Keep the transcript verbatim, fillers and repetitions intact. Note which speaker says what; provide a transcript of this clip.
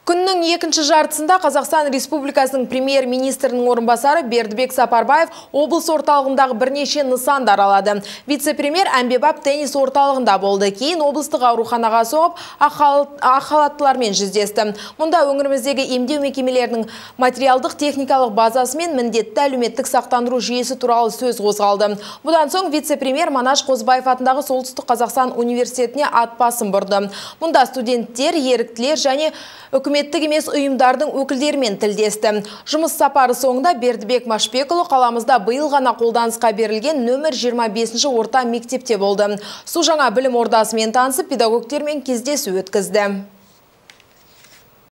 Speaker 1: Күннің екінші жартысында Қазақстан Республикасының премьер-министрінің орынбасары Бердібек Сапарбаев облыс орталығындағы бірнеше нысанды аралады. Вице-премьер әмбебап теннис орталығында болды. Кейін облыстық ауруханаға соғып, ақ халаттылармен жүздесті. Мұнда өңіріміздегі емдеу мекемелерінің материалдық техникалық базасы мен міндетті әлеуметтік сақтандыру жүйесі туралы сөз қозғалды. Бұдан соң вице-премьер Манаш Қозыбаев атындағы Солтүстік Қазақстан университетіне ат басын бұрды. Мұнда студенттер, еріктілер және үкіметтік емес ұйымдардың өкілдерімен тілдесті. Жұмыс сапары соңында Бердібек Машбекұлы қаламызда биыл ғана қолданысқа берілген нөмір жиырма бесінші орта мектепте болды. Су жаңа білім ордасымен танысып, педагогтермен кездесу өткізді.